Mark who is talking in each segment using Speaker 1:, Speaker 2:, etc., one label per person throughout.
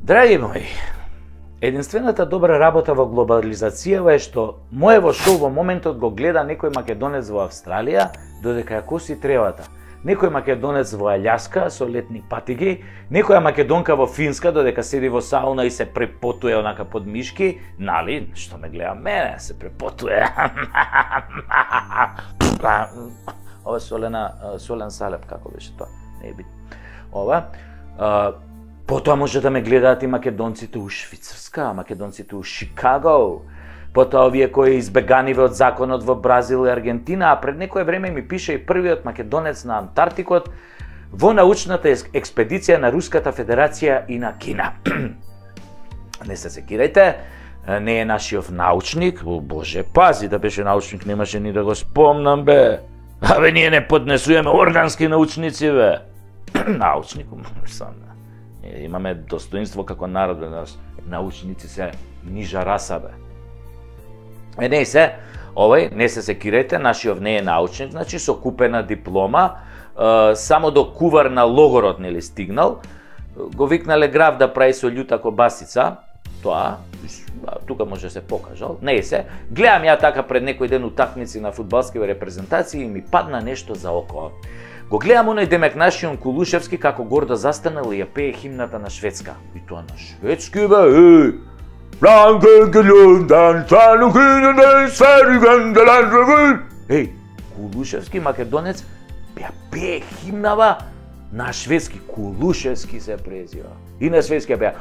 Speaker 1: Драги мои, единствената добра работа во глобализацијава е што моево шоу во моментот го гледа некој македонец во Австралија, додека ја коси тревата. Некој македонец во Аљаска со летни патиги, некоја македонка во Финска додека седи во сауна и се препотуе онака под мишки, нали, што ме гледа мене, се препотуе. Ова солен салеп, како беше тоа? Не е бит. Ова. Потоа може да ме гледаат и македонците у Швицарска, македонците у Шикаго, потоа овие кои избеганиве од законот во Бразил и Аргентина, а пред некое време ми пише и првиот македонец на Антарктикот во научната експедиција на Руската Федерација и на Кина. Не се секирајте, не е нашиот научник, боже, пази да беше научник, немаше ни да го спомнам, бе. Абе, ние не поднесуваме органски научници, бе. Научник, имаме достоинство како народ, научници се нижа раса, бе. Не се, овој, не се секирајте, нашиот не е научник, значи со купена диплома, само до кувар на логорот нели стигнал, го викнале граф да прави со љута кобасица, тоа, тука може да се покажал, не се, гледам ја така пред некој ден утакмици на фудбалски репрезентации и ми падна нешто за око. Го гледам оној Демек нашиот Кулушевски како гордо застанал и ја пее химната на Шведска. И тоа на шведски, бе, Еј, Кулушевски македонец ја пее химнава на шведски. Кулушевски се презива. И на шведски ја пее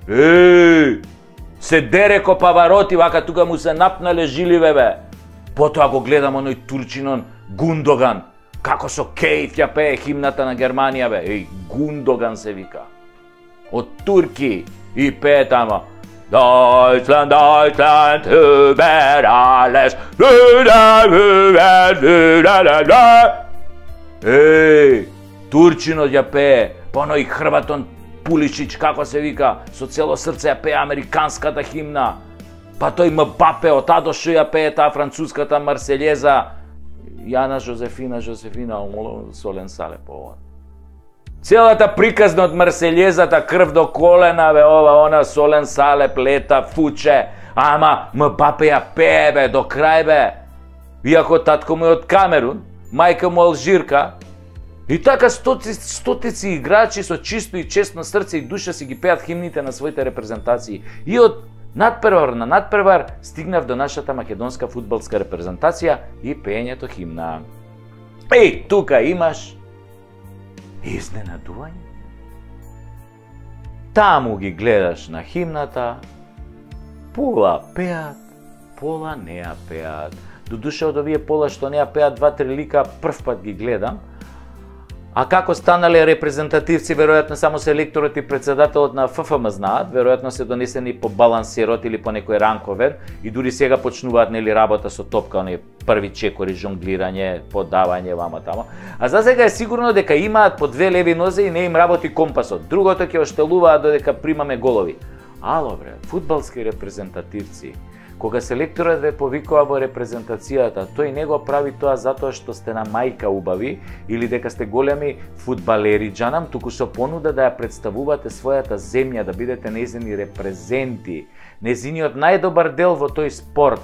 Speaker 1: Еј, се дере ко Павароти, вака тука му се напнале жиливе, бе. Потоа го гледам оној турчинон Гундоган, како со кејф ја пее химната на Германија, бе. Еј, Гундоган се вика. Од турки и пее тамо. Deutschland, Deutschland, über alles. Еј, турчинот ја пее, па оној Хрватон Пуличич, како се вика, со цело срце ја пее американската химна. Па тој Мбапе, од Адошо ја пее таа француската Марселјеза. Јана Жозефина, солен салеп ова. Целата приказна од Марселјезата, крв до колена, бе, ова, она, солен салеп, лета, фуче. Ама Мбапе ја пее, бе, до крај, бе. Иако татко му е од Камерун, мајка му алжирка. И така стотици играчи со чисто и честно срце и душа си ги пеат химните на своите репрезентации. И од надпревар на надпревар стигнав до нашата македонска фудбалска репрезентација и пеењето химна. Еј, тука имаш изненадување. Таму ги гледаш на химната, пола пеат, пола не ја пеат. Додуша од овие пола што не ја пеат, 2-3 лика прв пат ги гледам. А како станале репрезентативци, веројатно само селекторот и председателот на ФФМ знаат, веројатно се донесени по балансирот или по некој ранковен и дури сега почнуваат нели работа со топка, оние први чекори, жонглирање, подавање вама тамо. А за сега е сигурно дека имаат по 2 леви нозе и не им работи компасот. Другото ќе оштелуваат додека примаме голови. Ало бре, фудбалски репрезентативци. Кога селекторот ве повикува во репрезентацијата, тој не го прави тоа затоа што сте на мајка убави или дека сте големи фудбалери джанам, туку со понуда да ја представувате својата земја, да бидете нејзини репрезенти, нејзиниот најдобар дел во тој спорт,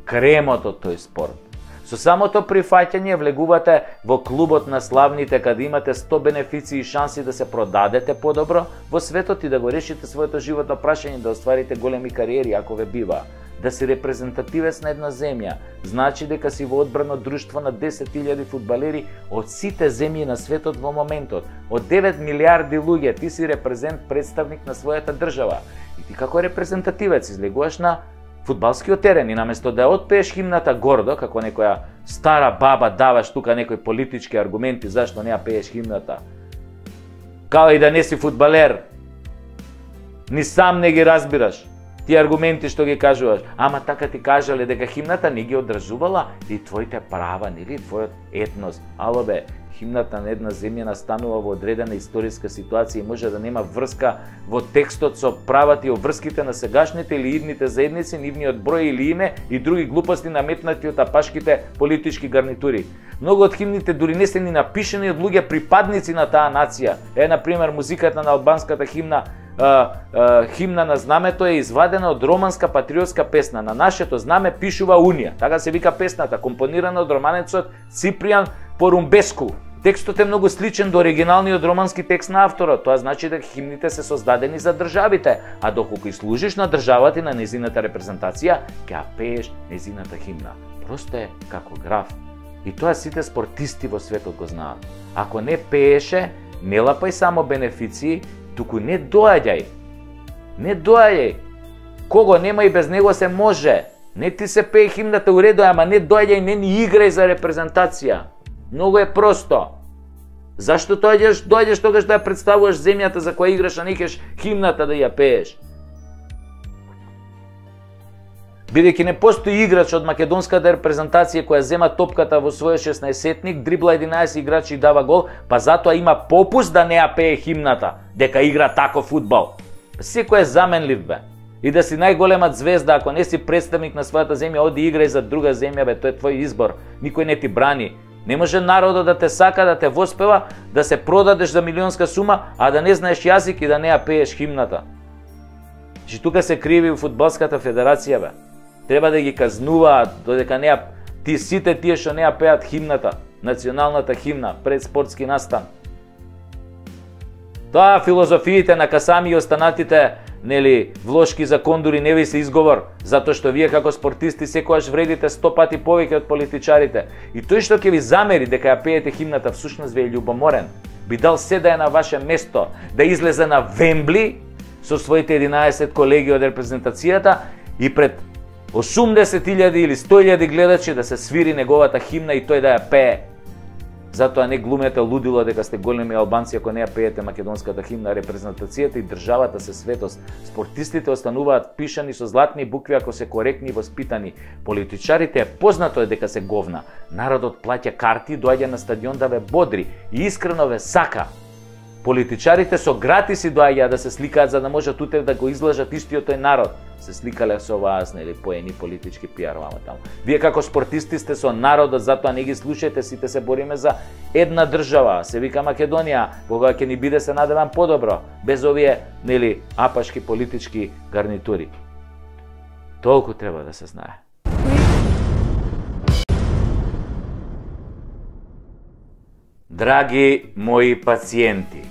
Speaker 1: кремот од тој спорт. Со самото прифаќање влегувате во клубот на славните, каде имате 100 бенефиции и шанси да се продадете подобро во светот и да го решите своето животно прашање, да остварите големи кариери ако ве бива. Да си репрезентативец на една земја, значи дека си во одбрано друштво на 10.000 фудбалери од сите земји на светот во моментот. Од 9 милиарди луѓе ти си представник на својата држава. И ти како репрезентативец излегуваш на фудбалскиот терен и наместо да отпееш химната гордо, како некоја стара баба даваш тука некои политички аргументи зашто не ја пееш химната. Као и да не си фудбалер, ни сам не ги разбираш тие аргументи што ги кажуваш, ама така ти кажале дека химната не ги одржувала и твоите права, нели, твојот етнос. Ало бе, химната на една земја настанува во одредена историска ситуација и може да нема врска во текстот со правата и обврските на сегашните или идните заедници, нивниот број или име и други глупости наметнати од апашките политички гарнитури. Многу од химните дури не се ни напишани од луѓе припадници на таа нација. На пример, музиката на албанската химна, химна на знамето е извадена од романска патриотска песна. На нашето знаме пишува Унија. Така се вика песната, компонирана од романецот Ципријан Порумбеску. Текстот е многу сличен до оригиналниот романски текст на авторот. Тоа значи дека химните се создадени за државите, а доколку и служиш на државата и на незината репрезентација, ќе ја пееш незината химна. Просто е како граф. И тоа сите спортисти во светот го знаат. Ако не пееше, не лапај само бенефиции, туку не доаѓај. Не доаѓај. Кого нема и без него се може. Не ти се пее химната у реду, ама не доаѓај, не ни играј за репрезентација. Многу е просто. Зашто доаѓаш тогаш да ја представуваш земјата за која играш, а не кеш химната да ја пееш? Бидејќи не постои играч од македонската репрезентација која зема топката во својот 16-сетник, дрибла 11 играчи и дава гол, па затоа има попуст да не ја пее химната, дека игра таков фудбал. Секој е заменлив, бе. И да си најголема звезда, ако не си представник на својата земја, оди играј за друга земја, бе, тоа е твој избор. Никој не ти брани. Не може народот да те сака, да те воспева, да се продадеш за милионска сума, а да не знаеш јазик и да не ја пееш химната. Че тука се криви у фудбалската федерација, бе. Треба да ги казнуваат, додека не ја, сите тие што не ја пеат химната, националната химна пред спортски настан. Тоа филозофиите на Касами и останатите, нели, влошки за кондури не ви се изговор, затоа што вие како спортисти секогаш вредите 100 пати повеќе од политичарите. И тој што ќе ви замери дека ја пеете химната, всушност ви е љубоморен. Би дал се да е на ваше место, да излезе на Вембли со своите 11 колеги од репрезентацијата и пред 80.000 или 100.000 гледачи да се свири неговата химна и тој да ја пее. Затоа не глумете лудило дека сте големи албанци ако не ја пеете македонската химна. Репрезентацијата и државата се светост. Спортистите остануваат пишани со златни букви ако се коректни и воспитани. Политичарите е познато е дека се говна. Народот плаќа карти, доаѓа на стадион да ве бодри и искрено ве сака. Политичарите со гратиси доаѓаат да се сликаат за да можат утре да го излажат истиот тој народ. Се сликале со вас, нели, поени политички пиар вама таму. Вие како спортисти сте со народот, затоа не ги слушајте, сите се бориме за една држава, се вика Македонија, кога ќе ни биде се надевам подобро, без овие, нели, апашки политички гарнитури. Толку треба да се знае. Драги мои пациенти,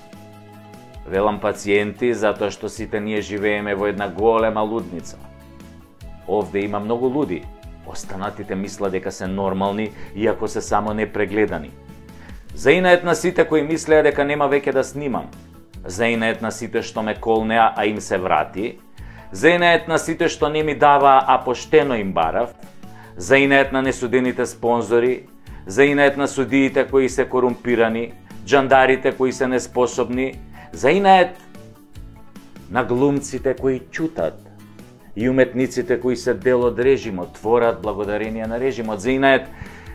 Speaker 1: велам пациенти затоа што сите ние живееме во една голема лудница. Овде има многу луди. Останатите мислат дека се нормални, иако се само непрегледани. Заинает на сите кои мислеа дека нема веќе да снимам. Заинает на сите што ме колнеа, а им се врати. Заинает на сите што не ми даваа, а поштено им барав. Заинает на несудените спонзори. Заинает на судиите кои се корумпирани, джандарите кои се неспособни, заинает на глумците кои чутат и уметниците кои се дел од режимот, творат благодарение на режимот, заинает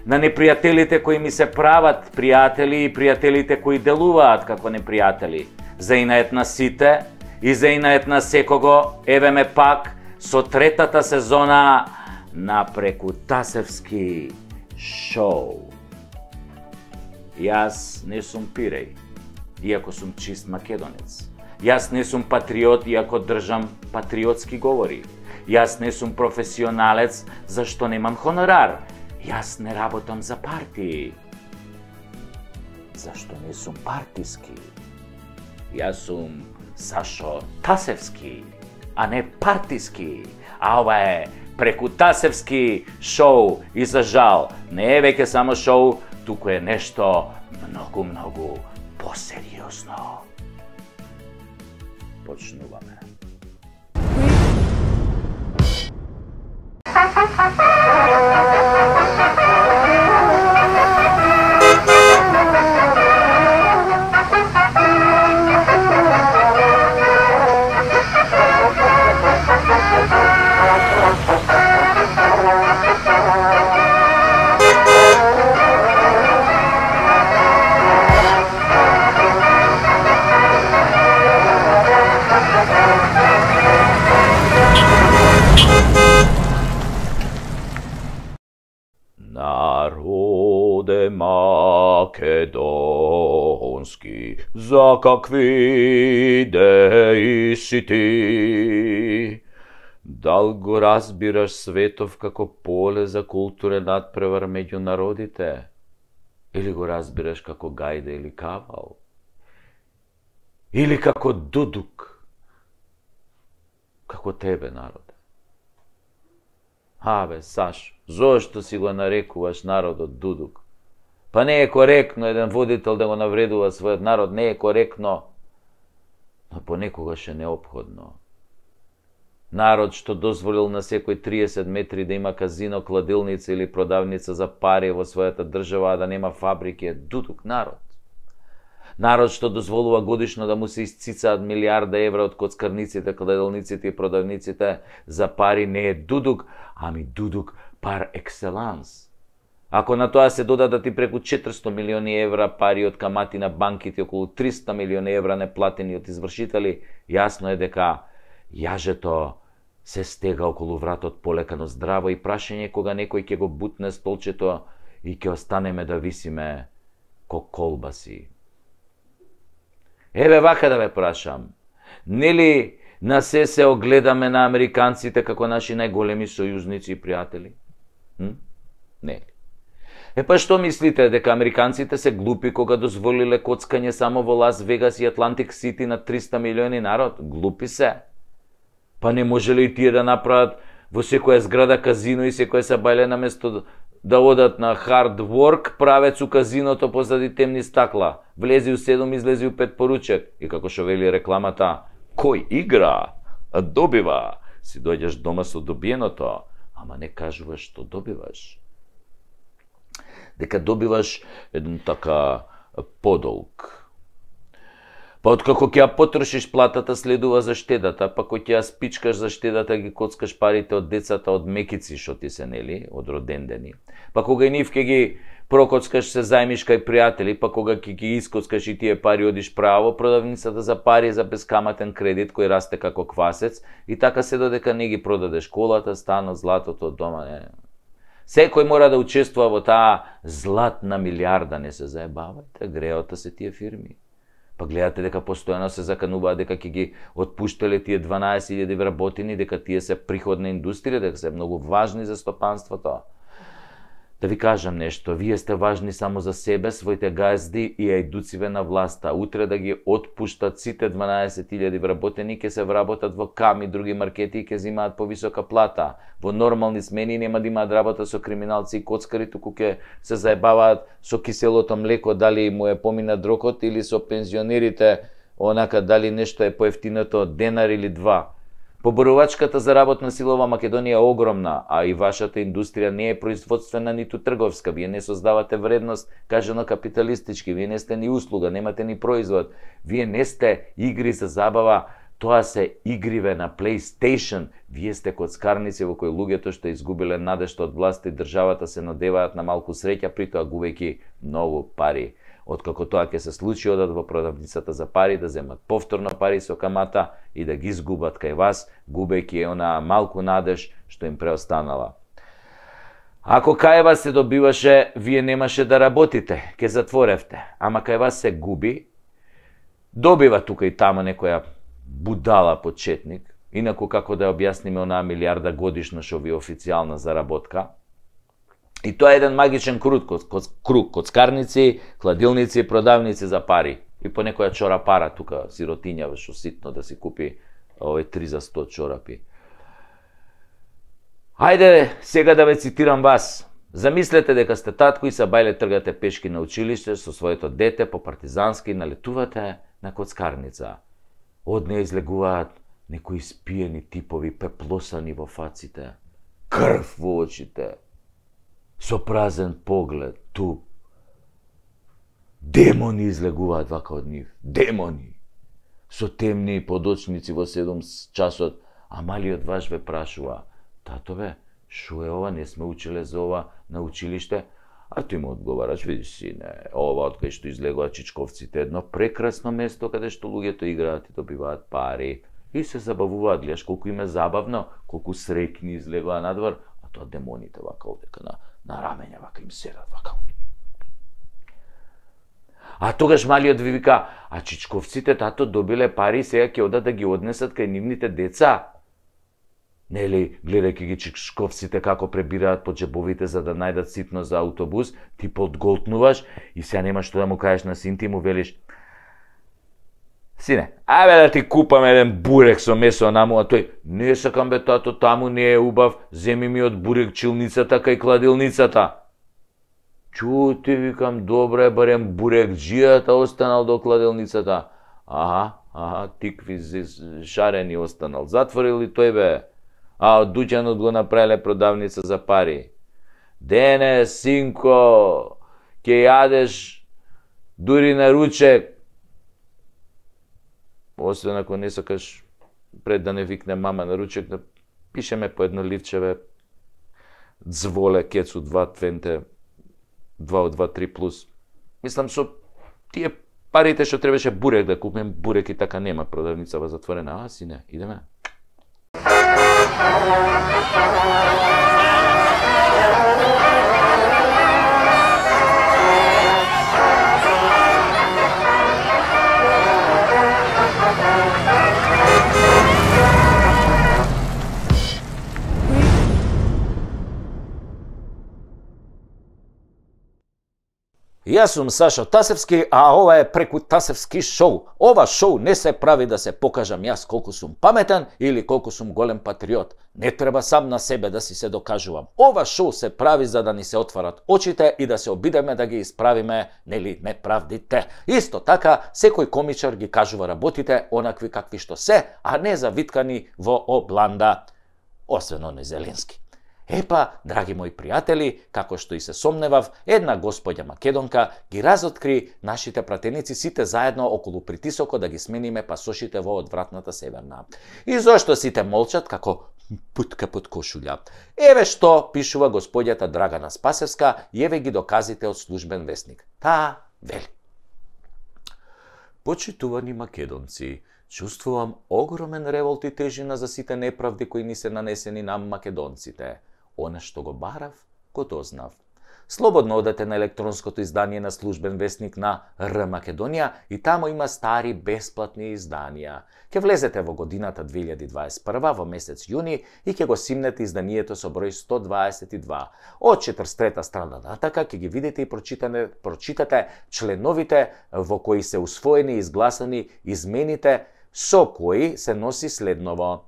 Speaker 1: на непријателите кои ми се прават пријатели и пријателите кои делуваат како непријатели, заинает на сите и заинает на секого, еве ме пак со третата сезона на Прекутасевски шоу. Јас не сум пиреј, иако сум чист македонец. Јас не сум патриот, иако држам патриотски говори. Јас не сум професионалец, зашто немам хонорар. Јас не работам за партии, зашто не сум партиски. Јас сум Сашо Тасевски, а не партиски. А ова е Прекутасевски шоу и за жал не е веќе само шоу, туку е нешто многу посериозно. Почнуваме. македонски, за какви идеи си ти? Дал го разбираш светов како поле за културен надпревар меѓу народите? Или го разбираш како гајда или кавал? Или како дудук? Како тебе, народе? Абе, Сашо, зошто си го нарекуваш народот дудук? Па не е коректно еден водител да го навредува својот народ, не е коректно, но понекогаш е неопходно. Народ што дозволил на секој 30 метри да има казино, кладилница или продавница за пари во својата држава, а да нема фабрики, е дудук народ. Народ што дозволува годишно да му се исцицаат милиарда евра од коцкарниците, кладилниците и продавниците за пари, не е дудук, ами дудук пар екселанс. Ако на тоа се додадат и преку 400 милиони евра пари од камати на банките, околу 300 милиони евра неплатени од извршители, јасно е дека јажето се стега околу вратот полекано здраво и прашање кога некој ќе го бутне столчето и ќе останеме да висиме ко колбаси. Еве вака да ве прашам, нели на се огледаме на американците како наши најголеми сојузници и пријатели? Нели? Па што мислите, дека американците се глупи кога дозволиле коцкање само во Лас Вегас и Атлантик Сити на 300 милиони народ? Глупи се. Па не можеле и тие да направат во секоја зграда казино и секоја сабајле наместо да одат на hard work, правец у казиното позади темни стакла. Влези у 7, излези у 5 поручек. И како што вели рекламата, кој игра, добива. Си дојдеш дома со добиеното, ама не кажуваш што добиваш. Дека добиваш еден така подолг. Па откако ќе ја потрошиш платата, следува заштедата, па кој ќе ја спичкаш заштедата, ги коцкаш парите од децата од мекици што ти се, нели, од родендени. Па кога и нив ќе ги прокоцкаш, се зајмиш кај пријатели, па кога ќе ги искоцкаш и тие пари одиш право продавницата за пари за бескаматен кредит кој расте како квасец и така се додека не ги продадеш колата, станот, златото од дома, не. Секој мора да учествува во таа златна милиарда, не се заебавајте, греота се тие фирми. Па гледате дека постојано се закануваат дека ќе ги отпуштале тие 12.000 вработени, дека тие се приходна индустрија, дека се многу важни за стопанството. Да ви кажам нешто, вие сте важни само за себе, своите газди и ајдуциве на власта. Утре да ги отпуштат сите 12.000 вработени, ќе се вработат во КАМ и други маркети и ќе земаат повисока плата. Во нормални смени нема да имаат работа со криминалци и коцкари, туку ќе се заебаваат со киселото млеко, дали му е помина дрокот, или со пензионерите, онака дали нешто е поевтиното од денар или два. Поборувачката за работна сила во Македонија е огромна, а и вашата индустрија не е производствена ниту трговска. Вие не создавате вредност, кажано капиталистички, вие не сте ни услуга, немате ни производ. Вие не сте игри за забава, тоа се игриве на PlayStation. Вие сте коцкарници во кои луѓето што изгубиле надежта од власта и државата се надеваат на малку среќа, притоа губејќи многу пари. Откако тоа ќе се случи, одат во продавницата за пари да земат повторно пари со камата и да ги изгубат кај вас, губејќи онаа малку надеж што им преостанала. Ако кај вас се добиваше, вие немаше да работите, ќе затворевте, ама кај вас се губи, добива тука и тама некоја будала почетник, инаку како да објасниме онаа милиарда годишно што ви е официјална заработка. И тоа е еден магичен круг, коцкарници, кладилници, продавници за пари. И по некоја чора пара тука, сиротиња, што ситно да си купи 3 за 100 чорапи. Хајде сега да ве цитирам вас. Замислете дека сте татко и сабајле тргате пешки на училиште со своето дете по партизански и налетувате на коцкарница. Од неја излегуваат некои спиени типови, пеплосани во фаците, крв во очите, со празен поглед, туп. Демони излегуваат вака од нив. Демони! Со темни подочници во 7 часот, а малиот ваш ве прашува: татове, шо е ова, не сме учеле за ова на училиште? А тој му одговараш: види сине, ова од кај што излегуваат чичковците, едно прекрасно место каде што луѓето играат и добиваат пари. И се забавуваат, гледаш колку им е забавно, колку среќни излегуваат надвор, а тоа демоните вака овдека на рамења, вака им седат, вака. А тогаш малиот ви вика, а чичковците тато добиле пари, сега ќе одат да ги однесат кај нивните деца. Нели, гледајќи ги чичковците како пребираат по джебовите за да најдат ситно за автобус, ти подголтнуваш и сега нема што да му кажеш на син ти, му велиш: сине, ајде да ти купам еден бурек со месо наму, а тој: не сакам бе тато, таму не е убав, земи ми од бурек чилницата кај кладилницата. Чути, викам, добре, барем бурек джијата останал до кладилницата. Аха, тикви шарени останал. Затворили тој бе. А од дуќанот го направиле продавница за пари. Денес, синко, ќе јадеш дури на ручек. Освен ако не сакаш пред да не викне мама на ручек, да пишеме по едно ливчеве Дзволе, Кецу 2, Твенте, 2 од 2, 3 плюс. Мислам, со тие парите што требаше бурек да купим, бурек и така нема, продавница во затворена. А, сине, идеме. Јас сум Сашо Тасевски, а ова е Преку Тасевски шоу. Ова шоу не се прави да се покажам јас колку сум паметен или колку сум голем патриот. Не треба сам на себе да си се докажувам. Ова шоу се прави за да ни се отварат очите и да се обидеме да ги исправиме, нели, неправдите. Исто така, секој комичар ги кажува работите онакви какви што се, а не завиткани во обланда. Освен оној Зеленски. Епа, драги мои пријатели, како што и се сомневав, една господја македонка ги разоткри нашите пратеници сите заедно околу притисокот да ги смениме пасошите во одвратната Северна. И зошто сите молчат како путка под кошулја? Еве што пишува господјата Драгана Спасевска и еве ги доказите од службен весник. Таа вели: почитувани македонци, чувствувам огромен револт и тежина за сите неправди кои ни се нанесени на македонците. Она што го барав, го дознав. Слободно одете на електронското издание на службен весник на Р Македонија и таму има стари бесплатни изданија. Ке влезете во годината 2021 во месец јуни и ќе го симнете изданието со број 122. Од 43-та страна натака ќе ги видите и прочитате членовите во кои се усвоени и изгласани измените со кои се носи следново: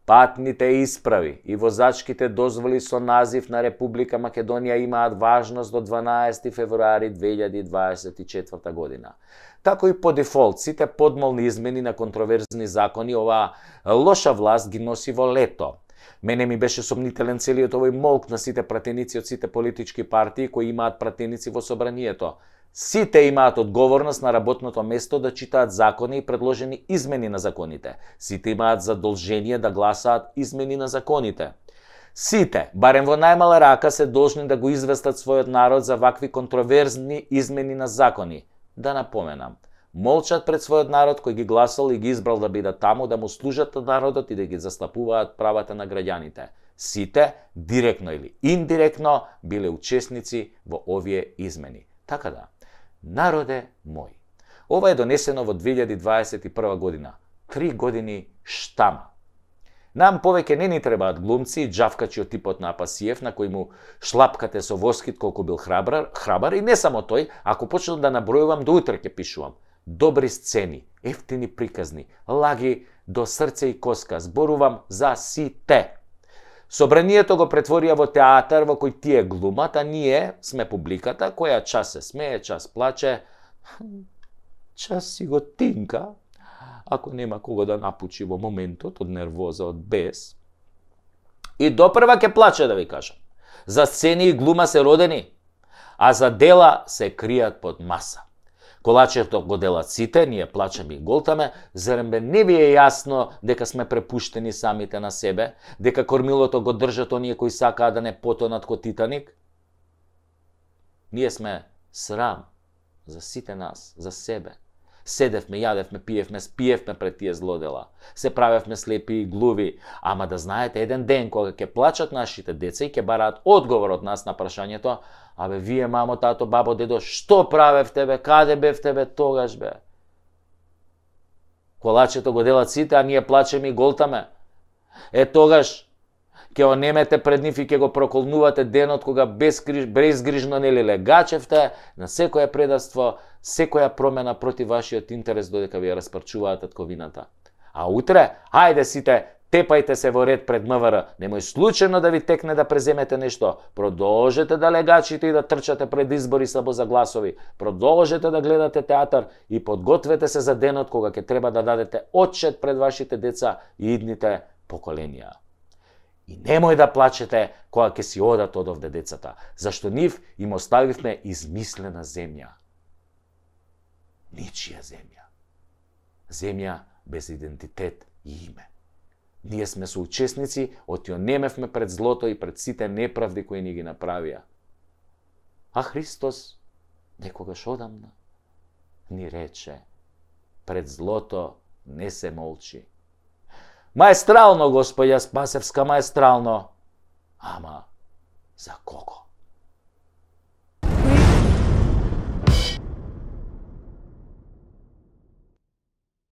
Speaker 1: патните исправи и возачките дозволи со назив на Република Македонија имаат важност до 12 февруари 2024 година. Тако и по дефолт, сите подмолни измени на контроверзни закони оваа лоша власт ги носи во лето. Мене ми беше сомнителен целиот овој молк на сите пратеници од сите политички партии кои имаат пратеници во собранието. Сите имаат одговорност на работното место да читаат закони и предложени измени на законите. Сите имаат задолжение да гласаат измени на законите. Сите, барем во најмала рака, се должни да го известат својот народ за вакви контроверзни измени на закони. Да напоменам, молчат пред својот народ кој ги гласал и ги избрал да бидат таму, да му служат на народот и да ги застапуваат правата на граѓаните. Сите, директно или индиректно, биле учесници во овие измени. Така да, народе мој, ова е донесено во 2021 година. 3 години штама. Нам повеќе не ни требаат глумци и џавкачи од типот на Апасиев, на кој му шлапкате со воскит колку бил храбар, и не само тој, ако почнам да набројувам, до утре ќе пишувам. Добри сцени, ефтини приказни, лаги до срце и коска, зборувам за сите. Собранието го претворија во театар во кој тие глумат, а ние сме публиката која час се смее, час плаче, час си го тинка, ако нема кого да напучи во моментот од нервоза, од бес. И допрва ќе плаче, да ви кажам. За сцени и глума се родени, а за дела се кријат под маса. Колачето го делат сите, ние плачеме и голтаме, зарем бе не ви е јасно дека сме препуштени самите на себе, дека кормилото го држат оние кои сакаат да не потонат ко Титаник? Ние сме срам за сите нас, за себе. Седевме, јадевме, пиевме, спиевме пред тие злодела. Се правевме слепи и глуви. Ама да знаете, еден ден кога ќе плачат нашите деца и ќе бараат одговор од нас на прашањето: абе, вие, мамо, тато, бабо, дедо, што правевте, бе? Каде бевте, бе, тогаш, бе? Колачето го делат сите, а ние плачеме и голтаме. Тогаш ќе онемете пред нив и ќе го проколнувате денот кога безгрижно нели легачевте на секоја предавство, секоја промена против вашиот интерес додека ви ја распарчуваат татковината. А утре, хајде сите, тепајте се во ред пред МВР, немој случајно да ви текне да преземете нешто. Продолжете да легачите и да трчате пред избори само за гласови. Продолжете да гледате театар и подгответе се за денот кога ќе треба да дадете отчет пред вашите деца и идните поколенија. И немој да плачете кога ќе си одат од овде децата, зашто нив им оставивме измислена земја. Ничија земја. Земја без идентитет и име. Ние сме соучесници, отјонемевме пред злото и пред сите неправди кои ни ги направија. А Христос, некогаш одамна, ни рече: пред злото не се молчи. Маестрално, Господја Спасевска, маестрално. Ама, за кого?